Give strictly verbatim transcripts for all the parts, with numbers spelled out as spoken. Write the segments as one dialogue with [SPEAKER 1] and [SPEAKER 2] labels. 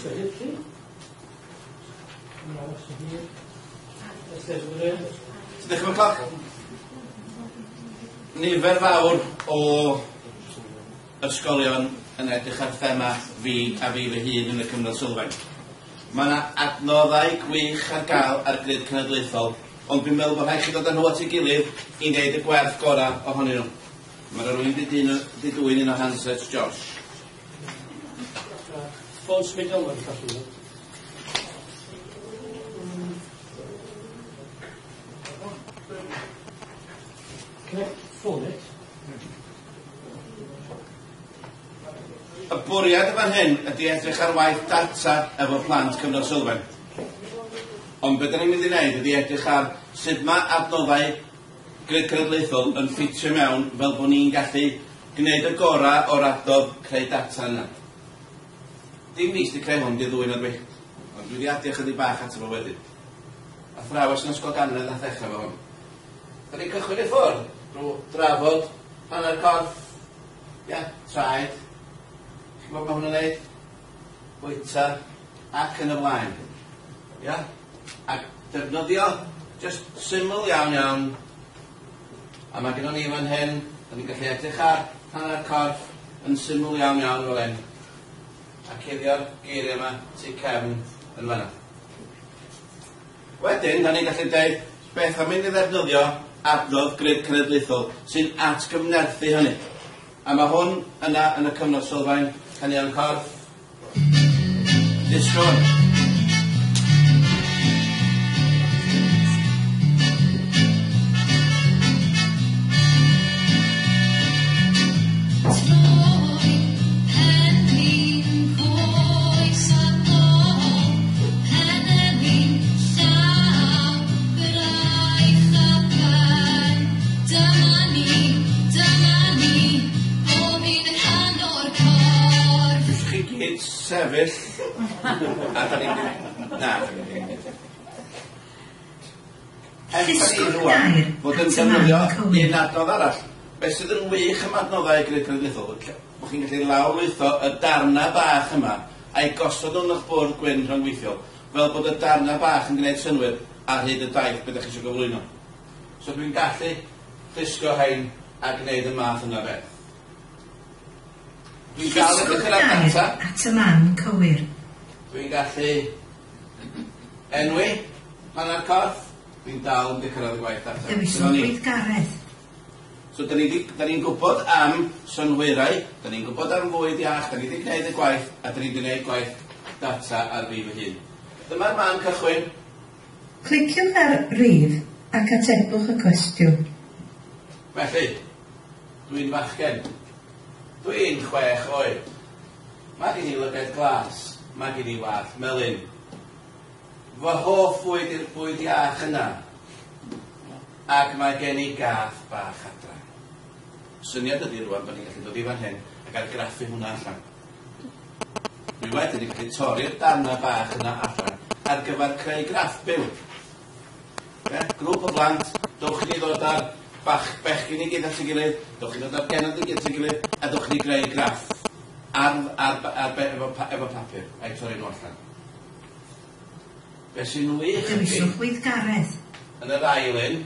[SPEAKER 1] Ti'n dechrau cloc? Nifer fawr o ysgolion yn edrych ar thema fi a fi fy hun yn y cyfnod sylfaen. Mae yna adnoddau gwych ar gael ar grid cenedlaethol, ond dwi'n meddwl bod rhaid chi ddod â nhw at ei gilydd i wneud y gwerth gorau ohonyn nhw. Mae yna rywun wedi dwyn un o handsets Josh.
[SPEAKER 2] Ffôn symudol mae'n colli. Can I phone it?
[SPEAKER 1] Y bwriad y fan hyn ydy edrych ar waith data efo plant cyfnod sylfaen. Ond be da ni'n mynd i wneud ydy edrych ar sut mae adnoddau grid cenedlaethol yn ffitio mewn fel bod ni'n gallu gwneud y gorau o'r adnodd creu data yna. Dim fi sydd wedi creu hwn, di ddwyn o dwi. Ond dwi wedi adio chydig bach ato fo wedyn. Athrawes yn ysgol ganol nath ddechrau efo hwn. Da ni'n cychwyn i ffwrdd drwy drafod hanner corff, ia, traed. Chi'n gwybod ma' hwnna'n neud? Bwyta, ac yn y blaen. Ia? Ac defnyddio, just syml iawn iawn. A mae gennon ni fan hyn, da ni'n gallu edrych ar hanner corff yn syml iawn iawn fel hyn. A cuddio'r geiriau yma tu cefn yn fanna. Wedyn, da ni'n gallu deud beth am mynd i ddefnyddio adnodd grid cenedlaethol sy'n atgyfnerthu hynny. A mae hwn yna yn y cyfnod sylfaen, caneuon corff. Disgwyl. Sefyll a da ni'n... Na.
[SPEAKER 3] Llusgwch gair
[SPEAKER 1] fod yn
[SPEAKER 3] at y man
[SPEAKER 1] defnyddio
[SPEAKER 3] cywir.
[SPEAKER 1] Un adnodd arall. Beth sydd yn wych am adnoddau grid cenedlaethol, bod chi'n gallu lawrlwytho y darna bach yma a'i gosod nhw'n eich bwrdd gwyn rhyngweithiol, fel bod y darna bach yn gwneud synnwyr ar hyd y daith beth ydych chi eisiau gyflwyno. So dwi'n gallu llusgo rhain a gwneud y math yna beth. Dwi'n gael
[SPEAKER 3] Llusgwch
[SPEAKER 1] edrych ar
[SPEAKER 3] gair
[SPEAKER 1] data.
[SPEAKER 3] at y man cywir.
[SPEAKER 1] Dwi'n gallu enwi hanner corff. Dwi'n dal yn cyrraedd y gwaith data.
[SPEAKER 3] Dewiswch
[SPEAKER 1] Dyna ni.
[SPEAKER 3] weithgaredd.
[SPEAKER 1] So da ni'n da ni'n gwybod am synhwyrau, da ni'n gwybod am fwyd iach, da ni wedi gwneud y gwaith, a da ni wedi gwneud gwaith data ar fi fy hun. Dyma'r man cychwyn.
[SPEAKER 3] Cliciwch ar rif ac atebwch y cwestiwn.
[SPEAKER 1] Felly, dwi'n fachgen. Dwi'n chwech oed. Mae gen i lygaid glas, mae gen i wallt melyn. Fy hoff fwyd yw'r bwyd iach yna. Ac mae gen i gath bach adra. Syniad ydy rwan bod ni'n gallu dod i fan hyn ac argraffu hwnna allan. Dwi wedyn yn gallu torri'r darna bach yna allan ar gyfer creu graff byw. Ie? Grŵp o blant, dowch i ni ddod ar bach bechgyn i gyd at ei gilydd, dowch i ddod ar genod i gyd at ei gilydd, a dowch i ni greu graff ar, ar, ar, efo, efo papur, a'i torri nhw allan. Be sy'n wych ydy,
[SPEAKER 3] Dewiswch weithgaredd.
[SPEAKER 1] yn yr ail un,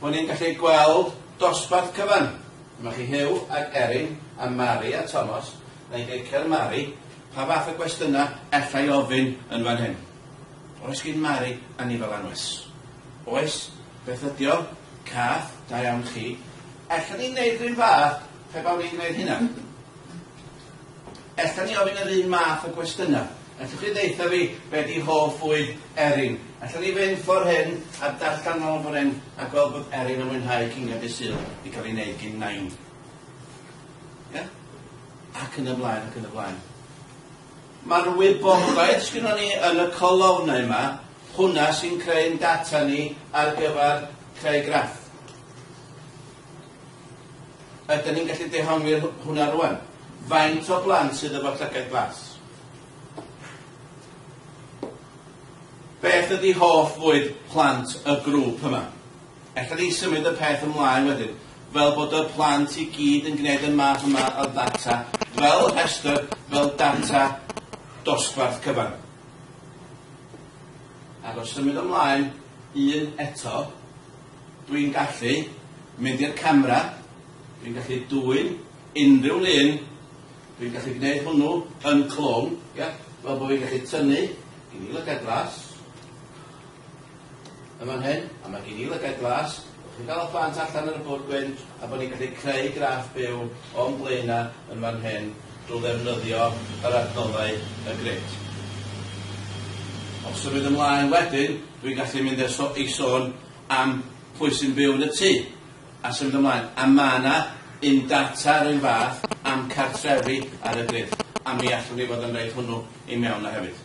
[SPEAKER 1] bod ni'n gallu gweld dosbarth cyfan. Dyma chi Huw ac Erin a Mari a Thomas. Na i glicio ar Mari, pa fath o gwestiynau ella i ofyn yn fan hyn. Oes gen Mari anifail anwes? Oes, beth ydi o? Cath, da iawn chi. Ella ni'n neud rhywun fath pe bawn ni'n gwneud hynna. Ella ni ofyn yr un math o gwestiynau. Ellwch chi ddeutha fi be di hoff fwyd Erin. Ella ni fynd ffordd hyn a darllen nôl ffordd hyn a gweld bod Erin yn mwynhau cinio dydd Sul i cael ei wneud gyn nain. Ia? Ac yn y blaen, ac yn y blaen. Mae'r wybodaeth sgynnon ni yn y colofnau yma, hwnna sy'n creu'n data ni ar gyfer creu graff. Ydyn ni'n gallu dehongli hwnna rwan? Faint o blant sydd efo llygaid glas? Beth ydy hoff fwyd plant y grŵp yma? Ella ni symud y peth ymlaen wedyn, fel bod y plant i gyd yn gwneud y math yma o ddata, fel rhestr, fel data dosbarth cyfan. Ac os symud ymlaen un eto, dwi'n gallu mynd i'r camera, dwi'n gallu dwyn unrhyw lun, dwi'n gallu gwneud hwnnw yn clone, ia, fel bod fi'n gallu tynnu, gen i lygad glas, yn fan hyn, a mae gen i lygad glas, chi'n gael y plant allan ar y bwrdd gwyn, a bod ni'n gallu creu graff byw o'n blaenau yn fan hyn drwy ddefnyddio yr adnoddau y grid. Os symud ymlaen wedyn, dwi'n gallu mynd i sôn am pwy sy'n byw yn y tŷ, a symud ymlaen. A ma' 'na un data yr un fath am cartrefi ar y grid, a mi allwn ni fod yn rhoid hwnnw i mewn na hefyd.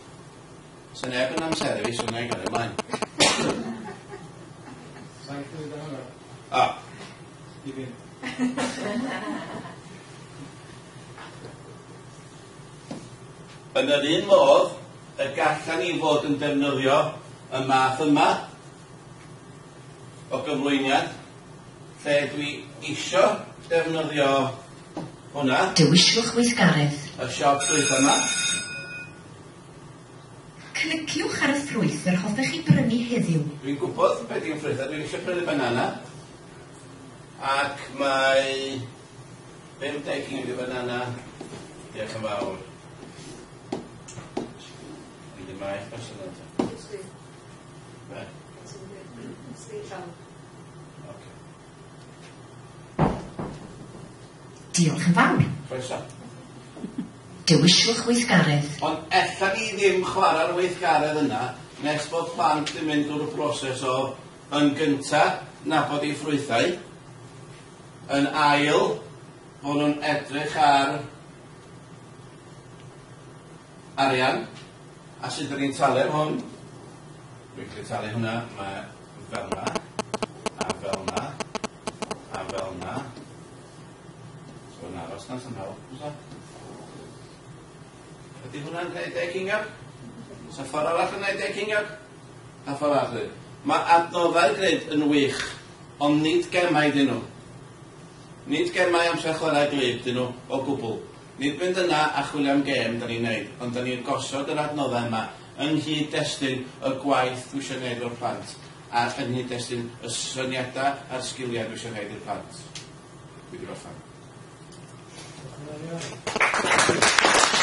[SPEAKER 1] So neb yn amseru fi, so wna i gario ymlaen.
[SPEAKER 4] Saith munud a hanner.
[SPEAKER 1] O.
[SPEAKER 4] I fynd.
[SPEAKER 1] Yn yr un modd, y gallan ni fod yn defnyddio y math yma o gyflwyniad, lle dwi isio defnyddio hwnna.
[SPEAKER 3] Dewiswch weithgaredd.
[SPEAKER 1] Y siop ffrwyth yma.
[SPEAKER 3] Cliciwch ar y ffrwyth yr hoffech chi brynu heddiw.
[SPEAKER 1] Dwi'n gwybod beth yw'n ffrwythau, dwi'n eisiau prynu banana. Ac mae bum deg ceiniog i banana. Diolch yn fawr. Dwi'n mynd maith person yna. Be? Ocê.
[SPEAKER 3] Diolch yn fawr.
[SPEAKER 1] Croeso.
[SPEAKER 3] Dewiswch weithgaredd.
[SPEAKER 1] Ond ella ni ddim chwarae'r weithgaredd yna nes bod plant yn mynd drwy'r broses o yn gynta nabod eu ffrwythau, yn ail bod nhw'n edrych ar arian a sut ydyn ni'n talu am hwn. Dwi'n gallu talu hwnna, mae fel yna, a fel yna, a fel yna. So yn aros na somehow, oes e? Ydy hwnna'n gwneud deg ceiniog? Oes 'na ffordd arall yn gwneud deg ceiniog? A ffordd arall. Mae adnoddau'r grid yn wych, ond nid gemau dyn nhw. Nid gemau amser chwarae gwlyb dyn nhw o gwbl. Nid mynd yna a chwilio am gêm da ni'n neud, ond da ni'n gosod yr adnoddau yma yng nghyd-destun y gwaith dwi eisiau gwneud o'r plant, a yng nghyd-destun y syniadau a'r sgiliau dwi eisiau gwneud i'r plant. Dwi wedi gorffen.
[SPEAKER 4] Diolch yn fawr iawn.